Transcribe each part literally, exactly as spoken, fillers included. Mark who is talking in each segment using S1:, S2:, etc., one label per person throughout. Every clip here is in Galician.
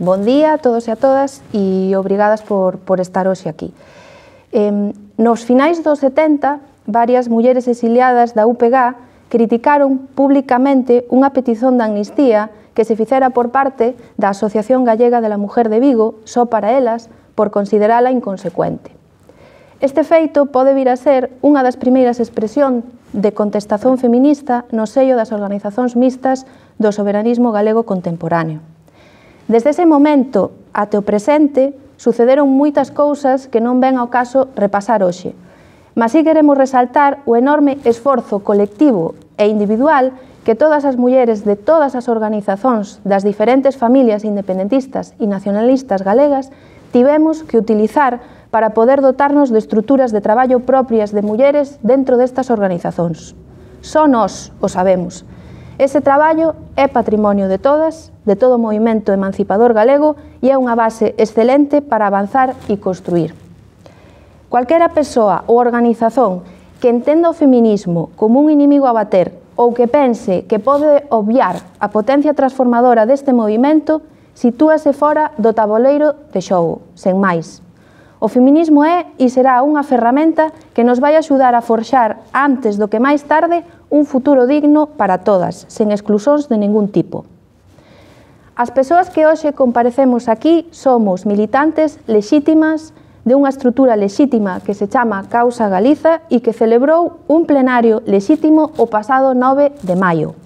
S1: Bon día a todos e a todas e obrigadas por, por estar hoxe aquí. Eh, nos finais dos setenta, varias mulleres exiliadas da U P G criticaron públicamente unha petición de amnistía que se fixera por parte da Asociación Gallega de la Mujer de Vigo só para elas por considerala inconsecuente. Este feito pode vir a ser unha das primeiras expresións de contestación feminista no sello das organizacións mixtas do soberanismo galego contemporáneo. Desde ese momento até o presente sucederon moitas cousas que non ven ao caso repasar hoxe, mas si queremos resaltar o enorme esforzo colectivo e individual que todas as mulleres de todas as organizacións das diferentes familias independentistas e nacionalistas galegas tivemos que utilizar para poder dotarnos de estruturas de traballo propias de mulleres dentro destas organizacións. Só nós o sabemos. Ese traballo é patrimonio de todas, de todo o movimento emancipador galego e é unha base excelente para avanzar e construir. Cualquera persoa ou organización que entenda o feminismo como un inimigo a bater ou que pense que pode obviar a potencia transformadora deste movimento, sitúase fora do taboleiro de xogo, sen máis. O feminismo é e será unha ferramenta que nos vai axudar a forxar antes do que máis tarde un futuro digno para todas, sen exclusóns de ningún tipo. As persoas que hoxe comparecemos aquí somos militantes lexítimas de unha estrutura lexítima que se chama Causa Galiza e que celebrou un plenario lexítimo o pasado nove de maio.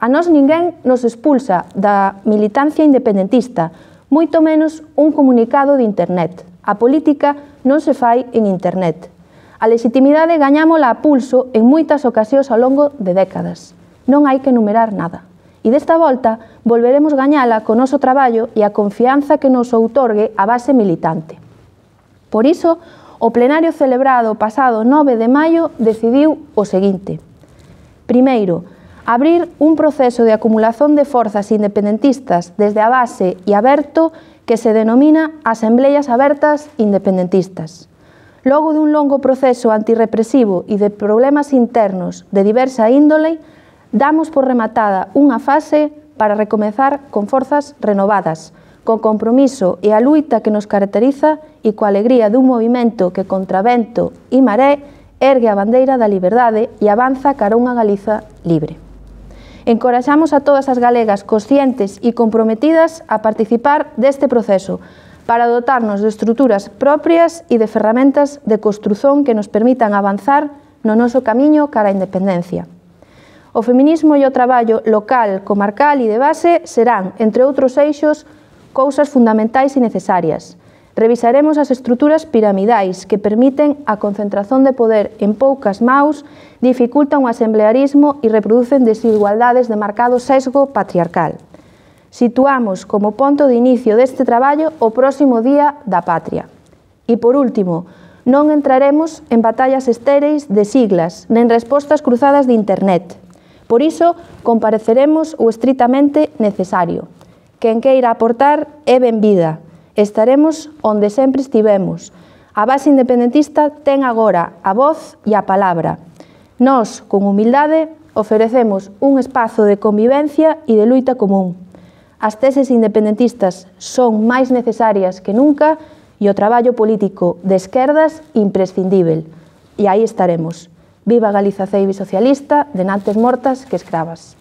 S1: A nós ninguén nos expulsa da militancia independentista, moito menos un comunicado de internet. A política non se fai en internet. A legitimidade gañámola a pulso en moitas ocasións ao longo de décadas. Non hai que enumerar nada. E desta volta volveremos gañala co noso traballo e a confianza que nos outorgue a base militante. Por iso, o plenario celebrado o pasado nove de maio decidiu o seguinte. Primeiro, abrir un proceso de acumulación de forzas independentistas desde a base e aberto que se denomina Asembleas Abertas Independentistas. Logo dun longo proceso antirrepresivo e de problemas internos de diversa índole, damos por rematada unha fase para recomezar con forzas renovadas, co compromiso e a luita que nos caracteriza e coa alegría dun movimento que contra vento e maré ergue a bandeira da liberdade e avanza cara a unha Galiza libre. Encoraxamos a todas as galegas conscientes e comprometidas a participar deste proceso para dotarnos de estruturas propias e de ferramentas de construción que nos permitan avanzar no noso camiño cara á independencia. O feminismo e o traballo local, comarcal e de base serán, entre outros eixos, cousas fundamentais e necesarias. Revisaremos as estruturas piramidais que permiten a concentración de poder en poucas maus, dificultan o asemblearismo e reproducen desigualdades de marcado sesgo patriarcal. Situamos como ponto de inicio deste traballo o próximo Día da Patria. E por último, non entraremos en batallas estéreis de siglas, nen respostas cruzadas de internet. Por iso, compareceremos o estritamente necesario. Quen queira aportar é benvida. Estaremos onde sempre estivemos. A base independentista ten agora a voz e a palabra. Nós, con humildade, ofrecemos un espazo de convivencia e de luita común. As teses independentistas son máis necesarias que nunca e o traballo político de esquerdas imprescindível. E aí estaremos. Viva Galiza ceibe socialista, de nantes mortas que escravas.